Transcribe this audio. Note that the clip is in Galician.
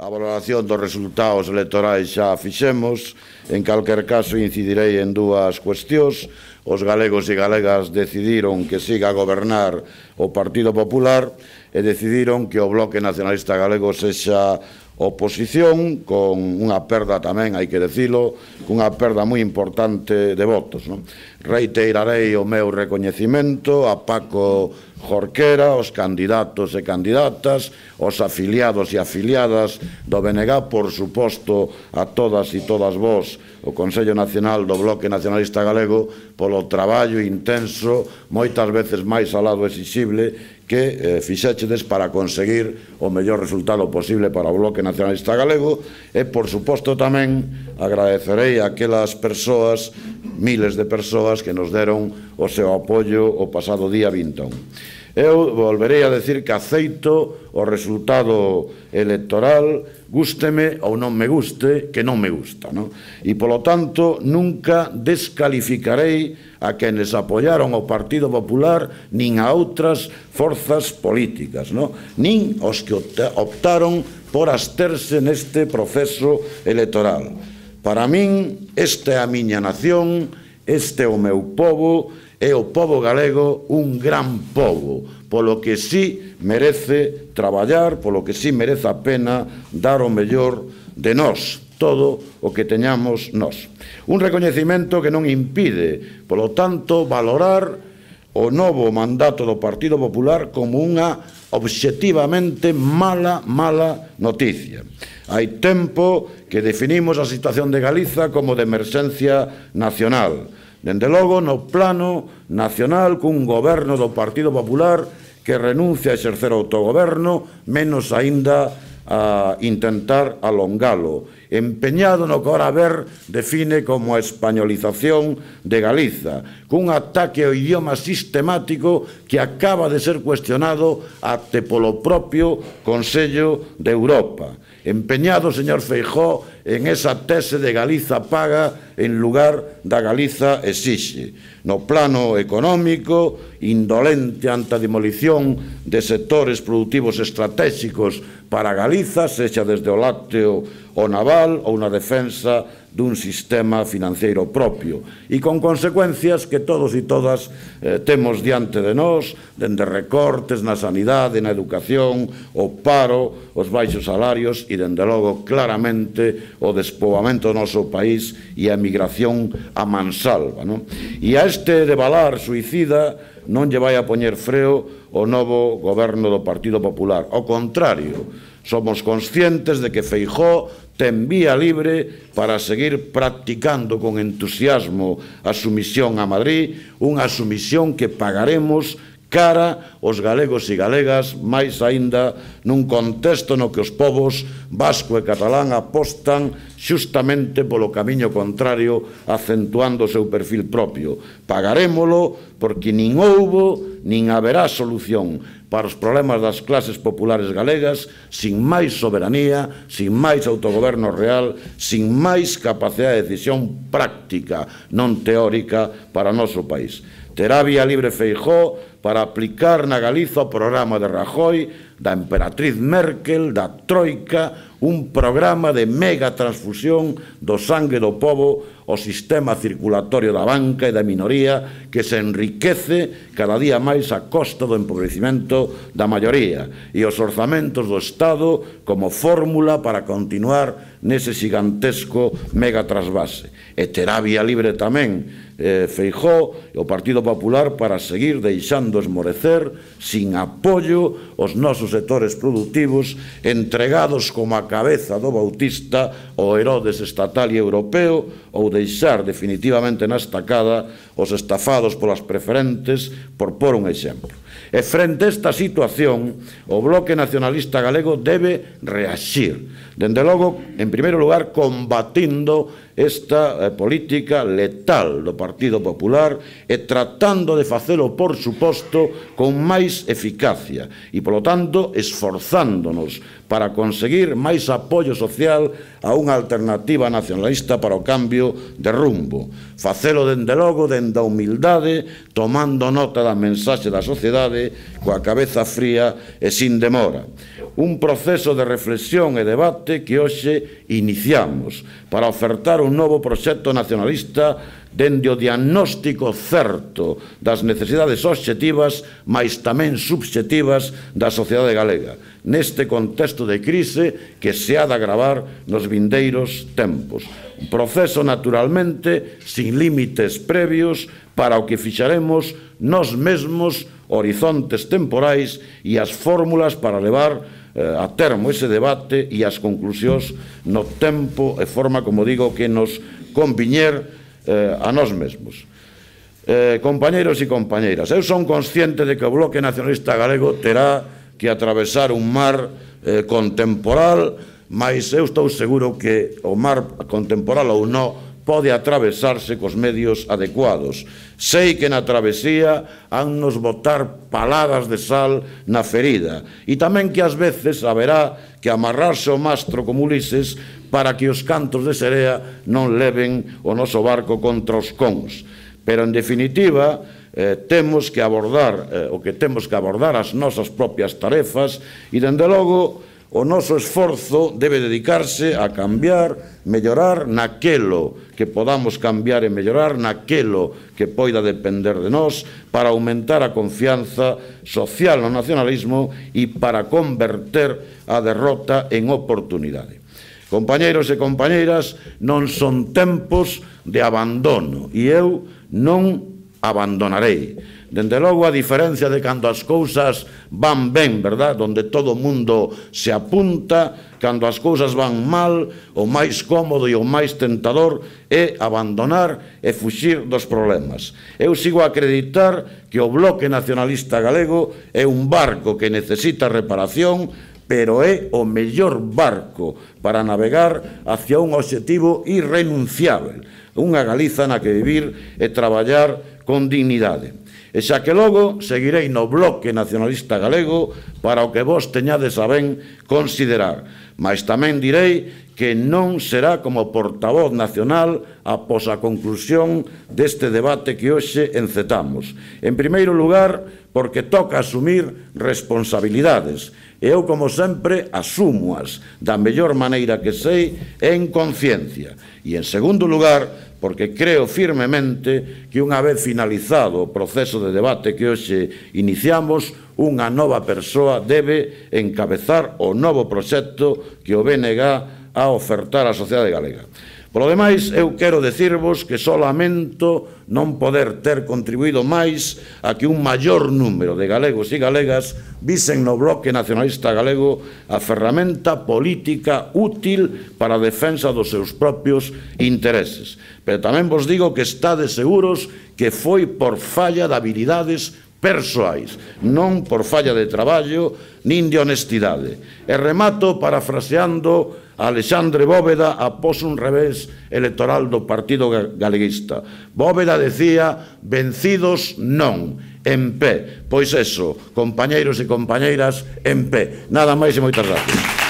A valoración dos resultados electorais xa a fixemos. En calquer caso, incidirei en dúas cuestións. Os galegos e galegas decidiron que siga a gobernar o Partido Popular e decidiron que o Bloque Nacionalista Galego sexa oposición, con unha perda tamén, hai que dicilo, cunha perda moi importante de votos. Reiterarei o meu recoñecimento a Paco Jorquera, os candidatos e candidatas, os afiliados e afiliadas do BNG, por suposto a todas e todas vós, o Consello Nacional do Bloque Nacionalista Galego, polo traballo intenso, moitas veces máis alado exixible, que fixéchedes para conseguir o mellor resultado posible para o Bloque Nacionalista Galego e, por suposto, tamén agradecerei a aquelas persoas, miles de persoas, que nos deron o seu apoio o pasado día 21. Eu volverei a decir que aceito o resultado electoral, gústeme ou non me guste, que non me gusta, e, polo tanto, nunca descalificarei a quenes apoiaron o Partido Popular nin a outras forzas políticas, nin os que optaron por absterse neste proceso electoral. Para min, esta é a miña nación, este é o meu pobo, é o pobo galego un gran pobo, polo que sí merece traballar, polo que sí merece a pena dar o mellor de nós, todo o que teñamos nós. Un recoñecemento que non impide, polo tanto, valorar o novo mandato do Partido Popular como unha obxectivamente mala noticia. Hai tempo que definimos a situación de Galiza como de emerxencia nacional. Dende logo, no plano nacional, cun goberno do Partido Popular que renuncia a exercer autogoberno, menos aínda a intentar alongalo, empeñado no que ora ver define como a españolización de Galiza, cun ataque ao idioma sistemático que acaba de ser cuestionado até polo propio Consello de Europa. Empeñado, señor Feijóo, en esa tese de Galiza paga en lugar da Galiza exixe. No plano económico, indolente ante a demolición de sectores productivos estratégicos para Galiza, sexa desde o lácteo o naval ou na defensa dun sistema financeiro propio, e con consecuencias que todos e todas temos diante de nós, dende recortes na sanidade, na educación, o paro, os baixos salarios e, dende logo, claramente o despoboamento do noso país e a emigración a mansalva. E a este devalar suicida non lle vai a poñer freo o novo goberno do Partido Popular. Ao contrario, somos conscientes de que Feijóo ten vía libre para seguir practicando con entusiasmo a sumisión a Madrid, unha sumisión que pagaremos cara aos galegos e galegas, máis aínda nun contexto no que os povos vasco e catalán apostan xustamente polo camiño contrario, acentuando o seu perfil propio. Pagarémolo porque nin houbo nin haberá solución para os problemas das clases populares galegas sin máis soberanía, sin máis autogoberno real, sin máis capacidade de decisión práctica, non teórica, para o noso país. Terá vía libre Feijóo para aplicar na Galiza o programa de Rajoy, da emperatriz Merkel, da Troika, un programa de mega transfusión do sangue do pobo ao sistema circulatorio da banca e da minoría que se enriquece cada día máis a costa do empobrecimento da maioría e os orzamentos do Estado como fórmula para continuar nese gigantesco mega trasvase. E terá vía libre tamén Feijóo e o Partido Popular para seguir deixando esmorecer sin apoio os nosos sectores productivos entregados como a cabeza do Bautista ao Herodes estatal e europeo ou deixar definitivamente na estacada os estafados polas preferentes, por pôr un exemplo. E frente a esta situación, o Bloque Nacionalista Galego debe reaxir. Dende logo, en primeiro lugar, combatindo esta política letal do Partido Popular e tratando de facelo, por suposto, con máis eficacia e, polo tanto, esforzándonos para conseguir máis apoio social a unha alternativa nacionalista para o cambio de rumbo. Facelo dende logo, dende a humildade, tomando nota da mensaxe da sociedade, coa cabeza fría e sin demora. Un proceso de reflexión e debate que hoxe iniciamos para ofertar un novo proxecto nacionalista dende o diagnóstico certo das necesidades obxectivas, mais tamén subxectivas da sociedade galega, neste contexto de crise que se ha de agravar nos vindeiros tempos. Un proceso, naturalmente, sin límites previos para o que fixaremos nós mesmos, horizontes temporais e as fórmulas para levar a termo ese debate e as conclusións no tempo e forma, como digo, que nos conviñer a nós mesmos. Compañeiros e compañeiras, eu son consciente de que o Bloque Nacionalista Galego terá que atravesar un mar contemporal, mas eu estou seguro que o mar contemporal ou non pode atravesarse cos medios adecuados. Sei que na travesía han nos botar paladas de sal na ferida e tamén que ás veces haberá que amarrarse o mastro como Ulises para que os cantos de serea non leven o noso barco contra os cons. Pero, en definitiva, temos que abordar as nosas propias tarefas e, dende logo, o noso esforzo debe dedicarse a cambiar, mellorar naquelo que podamos cambiar e mellorar, naquelo que poida depender de nós, para aumentar a confianza social no nacionalismo e para converter a derrota en oportunidade. Compañeiros e compañeiras, non son tempos de abandono e eu non abandonarei. Dende logo, a diferencia de cando as cousas van ben, verdad? Donde todo o mundo se apunta, cando as cousas van mal, o máis cómodo e o máis tentador é abandonar e fuxir dos problemas. Eu sigo a acreditar que o Bloque Nacionalista Galego é un barco que necesita reparación, pero é o mellor barco para navegar hacia un obxectivo irrenunciável, unha Galiza na que vivir e traballar con dignidade. E xa que logo seguirei no Bloque Nacionalista Galego para o que vos teñades a ben considerar, mas tamén direi que non será como portavoz nacional após a conclusión deste debate que hoxe encetamos. En primeiro lugar, porque toca asumir responsabilidades. E eu, como sempre, asúmoas da mellor maneira que sei en conciencia. E, en segundo lugar, porque creo firmemente que unha vez finalizado o proceso de debate que hoxe iniciamos, unha nova persoa debe encabezar o novo proxecto que o BNG a ofertar á sociedade galega. Polo demais, eu quero dicirvos que só lamento non poder ter contribuído máis a que un maior número de galegos e galegas visen no Bloque Nacionalista Galego a ferramenta política útil para a defensa dos seus propios intereses. Pero tamén vos digo que estades seguros que foi por falla de habilidades persoais, non por falla de traballo nin de honestidade. E remato parafraseando a Alexandre Bóveda após un revés electoral do Partido Galeguista. Bóveda decía: vencidos non, en pé. Pois eso, compañeiros e compañeiras, en pé. Nada máis e moitas gracias.